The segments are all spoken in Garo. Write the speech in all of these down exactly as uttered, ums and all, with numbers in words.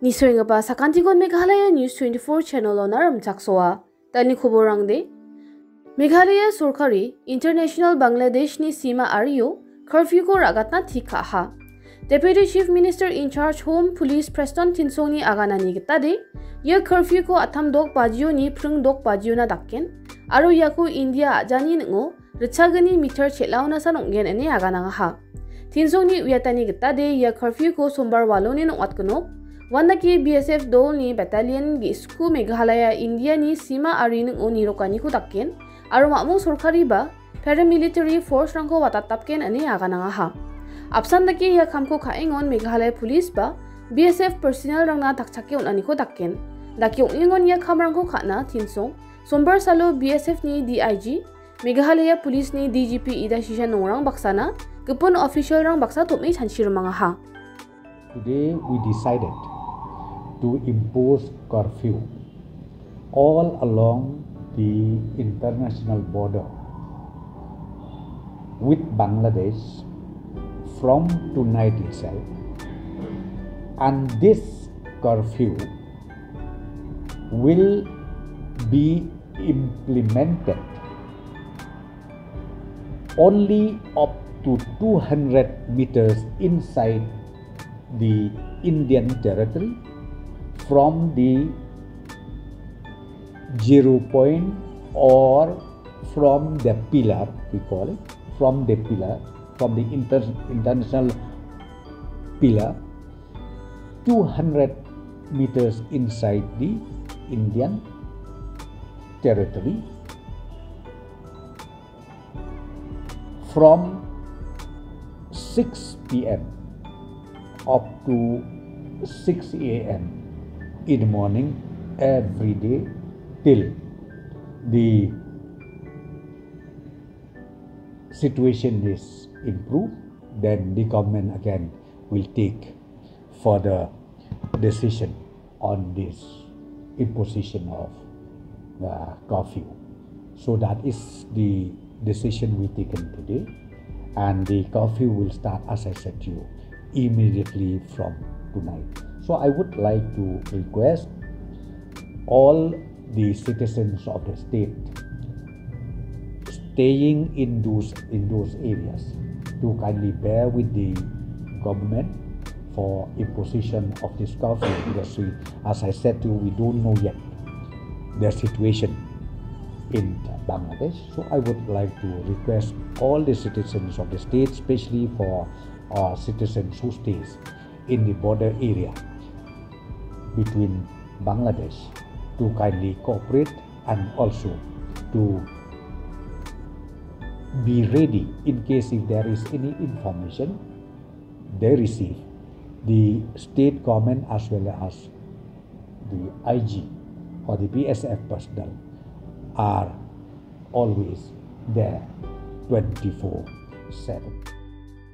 Nisoenggipa sakantikon Meghalaya News twenty-four channel-ona rimchaksoa. Dani koborangde. Meghalaya sorkari International Bangladeshni sima ario curfew-ko ra·gatna tik ka·aha. Deputy Chief Minister in charge Home Police Prestone Tynsongni aganani gitade, ia curfew-ko atam dok bajioni pring dok bajiona daken, aro iako India a·jani ning·o ritchagni meter chel·aonasan ong·gen ine aganangaha. Tynsongni uiatani gitade ia curfew-ko sombar waloni ong·atgenok, uandake B S F dolni battalion ge·sku Meghalaya Indiani sima ari ning·o nirokaniko daken, aro mamung sorkariba paramilitary force-rangko watatdapgen ine aganangaha. Apsan dake ia kamko ka·engon Meghalaya Police ba B S F personnel-rangna takchake on·aniko daken. Dake ong·engon ia kamrangko ka·na Tynsong, sombar salo B S F-ni D I G, Meghalaya Police-ni D G P Ida Shisha Nongrang baksana gipin official-rang baksa tom·e chanchi rimangaha. Today we decided to impose curfew all along the international border with Bangladesh from tonight itself, and this curfew will be implemented only up to two hundred meters inside the Indian territory from the zero point or from the pillar, we call it, from the pillar, from the inter-, international pillar, two hundred meters inside the Indian territory from six P M up to six A M in the morning every day till the situation is improved, then the government again will take further decision on this imposition of the curfew. So that is the decision we taken today, and the curfew will start, as I said to you, immediately from tonight. So I would like to request all the citizens of the state staying in those, in those areas to kindly bear with the government for imposition of this curfew, because we, as I said to you, we don't know yet the situation in Bangladesh. So I would like to request all the citizens of the state, especially for, uh, citizens who stays in the border area between Bangladesh, to kindly cooperate and also to be ready in case if there is any information they receive. The state government as well as the I G or the B S F personnel are always there twenty-four seven.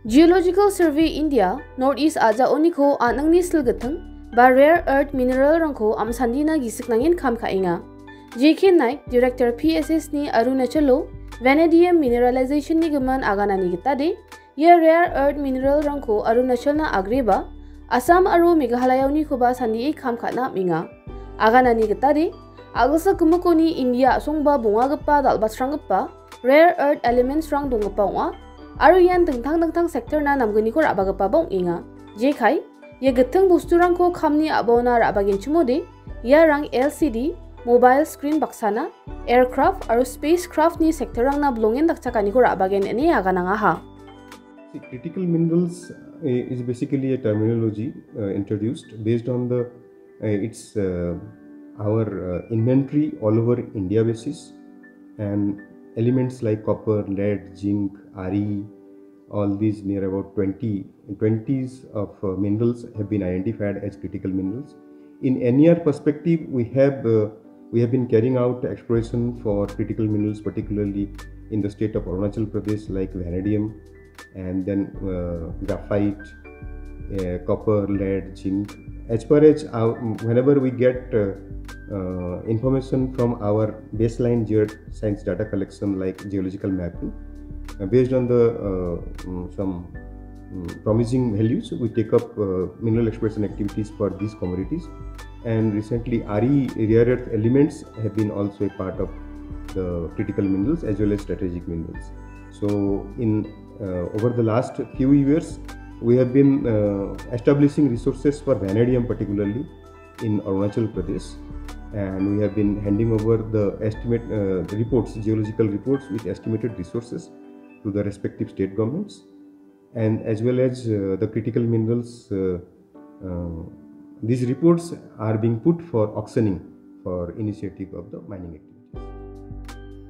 Geological Survey India North East a·jaoniko an·angni silgitting ba rare earth mineral-rangko am·sandina gisik nangen kam ka·enga. J K Naik, Director P S S-ni Arunachalo vanadium mineralization-ni gimin aganani gitade, ia rare earth mineral-rangko Arunachalna agreba, Assam aro Meghalayaonikoba sandie kam ka·na am·enga. Aganani gitade, a·gilsa gimikoni India a·songba bongagipa dal·batsranggipa rare earth elements-rang donggipa ong·a, aro ian dingtang dingtang sector-na namgniko ra·bagipaba ong·enga. Jekai, ia gitting bosturangko kamni a·baona ra·bagenchimode, iarang L C D, mobile screen baksana, aircraft aro spacecraft-ni sector-rangna bilongen dakchakaniko ra·bagen ine aganangaha. See, critical minerals, uh, is basically a terminology, uh, introduced based on the, uh, its, uh, our, uh, inventory all over India basis, and elements like copper, lead, zinc, R E, all these near about twenty, twenties of, uh, minerals have been identified as critical minerals. In N E R perspective, we have, uh, we have been carrying out exploration for critical minerals, particularly in the state of Arunachal Pradesh, like vanadium, and then, uh, graphite, uh, copper, lead, zinc. As far as, uh, whenever we get, uh, uh, information from our baseline geoscience data collection, like geological mapping, uh, based on the, uh, mm, some mm, promising values, we take up uh, mineral exploration activities for these commodities. And recently, R E rare earth elements have been also a part of the critical minerals as well as strategic minerals. So, in uh, over the last few years, we have been uh, establishing resources for vanadium particularly in Arunachal Pradesh, and we have been handing over the estimate uh, reports, geological reports with estimated resources to the respective state governments, and as well as uh, the critical minerals. Uh, uh, these reports are being put for auctioning for initiative of the mining activities.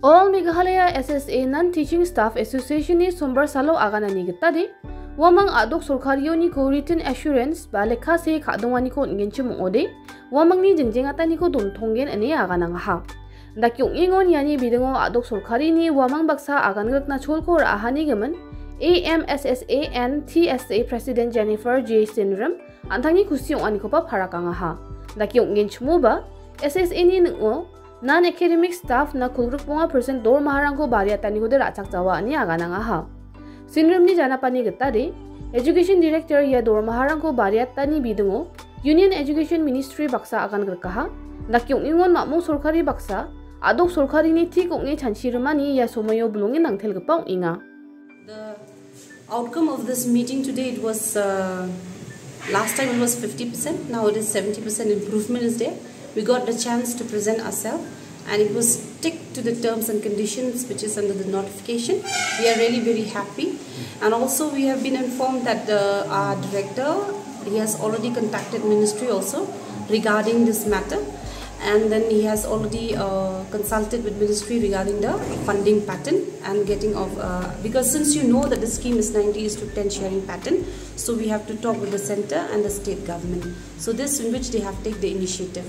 All Meghalaya S S A Non-Teaching Staff Association-ni sombar salo aganani gitade, uamang a·dok sorkarioni ko written assurance ba lekka see ka·donganiko on·genchim ong·ode, uamangni jengjengataniko dontonggen ine aganangaha. Dake ong·engon iani bidingo a·dok sorkarini uamang baksa agangrikna cholko ra·ahani gimin, A M S S A and T S A President Jennifer J Sinrim an·tangni kusi ong·anikoba parakangaha. Dake ong·genchimoba, S S A-ni ning·o non-academic staff-na kolgrikbonga percent dormaharangko bariatanikode ra·chakjawa ine aganangaha. Sinrimni janapani gitade, Education Director ia dormaharangko bariatani bidingo Union Education Ministry baksa agangrikaha, dake ong·engon mamung sorkari baksa, a·dok sorkarini tik ong·e chanchirimani ia somoio bilongen nangtelgipa ong·enga. The outcome of this meeting today, it was, uh, last time it was fifty percent, now it is seventy percent improvement is there. We got the chance to present ourselves, and it was stick to the terms and conditions which is under the notification. We are really very happy, and also we have been informed that the, our director, he has already contacted ministry also regarding this matter, and then he has already uh, consulted with ministry regarding the funding pattern and getting of, uh, because since you know that the scheme is ninety is to ten sharing pattern, so we have to talk with the center and the state government. So this in which they have take the initiative.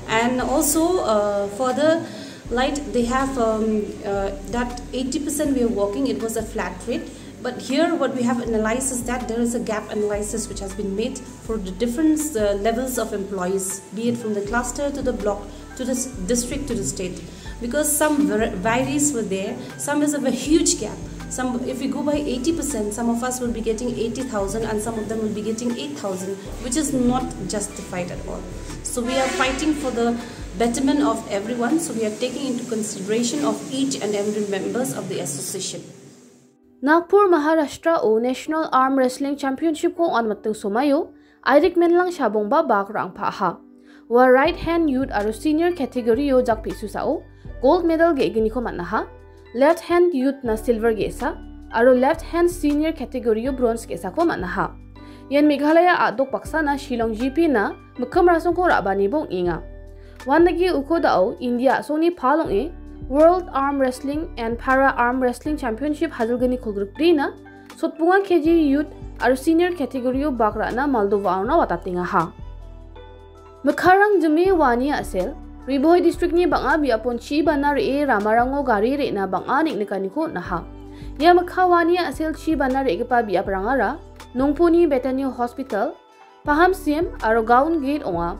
And also, uh, further light, they have, um, uh, that eighty percent we are working, it was a flat rate. But here what we have analyzed is that there is a gap analysis which has been made for the different uh, levels of employees, be it from the cluster to the block to the s- district to the state. Because some var- varies were there, some is of a huge gap. Some, if we go by eighty percent, some of us will be getting eighty thousand and some of them will be getting eight thousand, which is not justified at all. So we are fighting for the betterment of everyone. So we are taking into consideration of each and every members of the association. Nagpur, Maharashtra-o National Arm Wrestling Championship-ko on·atna somaio Airik Menlang Shabongba bak rangpaha. Ua right hand youth aro senior category-o jakpisusa-o gold medal ge·gniko man·aha. Left hand youth-na silver ge·sa aro left hand senior category-o bronze ge·sako man·aha. Ian Meghalaya a·dok baksana Shillong G P-na mikkim rasongko ra·banibo ong·enga. Uandake uko da·o India a·songni pal ong·e World Arm Wrestling and Para Arm Wrestling Championship hajilgni kolgrikbrina sotbonga K G youth aro senior category-o bak ra·na Moldova-ona watatengaha. Mikharang jime wani a·sel, Ri Bhoi district-ni bang·a biapon chi bana re·e ramarango gari re·na bang·a neng·nikaniko on·aha. Ia mikha wani a·sel chi bana re·gipa biaprangara Nongponi Bethany Hospital, Paham Sim aro Gaon Gate ong·a.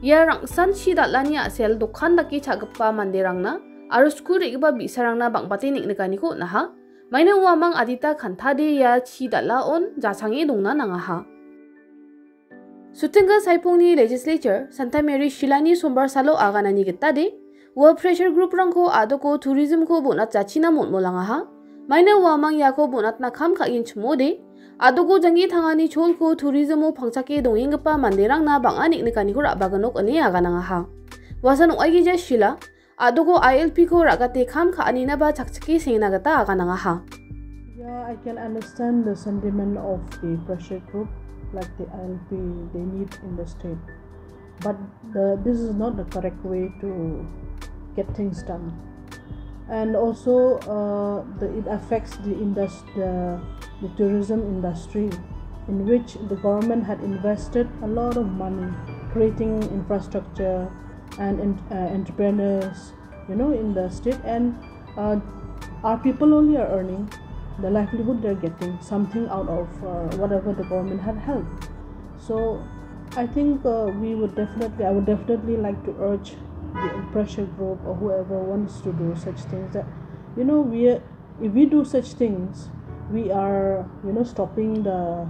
Ia rangsan chi dal·ani a·sel dokan dake cha·gipa manderangna aro skul re·gipa bi·sarangna bang·bate neng·nikaniko on·aha. Maina uamang adita kantade ia chi dal·aon jachange dongna nangaha. Sutingga Saipongni legislature Santa Mary Shilani sombar salo aganani gitade, ua pressure group-rangko a·doko tourism-ko bon·atjachina mon·molangaha. Maina uamang iako bon·atna kam ka·enchimode, a·doko janggi tangani cholko tourism-o pangchake dongenggipa manderangna bang·a neng·nikaniko ra·baginok ine aganangaha. Uasan ong·aigija Shila, a·doko I L P-ko ra·gate kam ka·aninaba chakchike sengna gita aganangaha. Yeah, I can understand the sentiment of the pressure group, like the I L P, they need in the state. But the, this is not the correct way to get things done. And also, uh, the, it affects the, indus- the, the tourism industry, in which the government had invested a lot of money creating infrastructure and en- uh, entrepreneurs, you know, in the state, and uh, our people only are earning the livelihood, they're getting something out of uh, whatever the government had helped. So I think uh, we would definitely, I would definitely like to urge the pressure group or whoever wants to do such things that, you know, we are, if we do such things, we are, you know, stopping the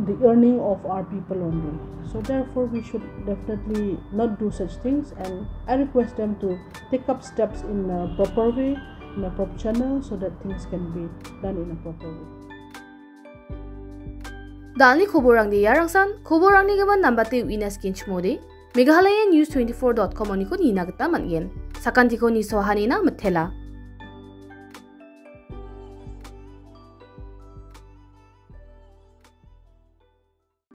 the earning of our people only. So therefore, we should definitely not do such things, and I request them to take up steps in a proper way, in a proper channel, so that things can be done in a proper way. Dalni koborangde iarangsan, koborangni gimin nambate uina skinchmode, Meghalaya News twenty-four dot com oniko nina gita man·gen. Sakantiko nisoahanina mitela.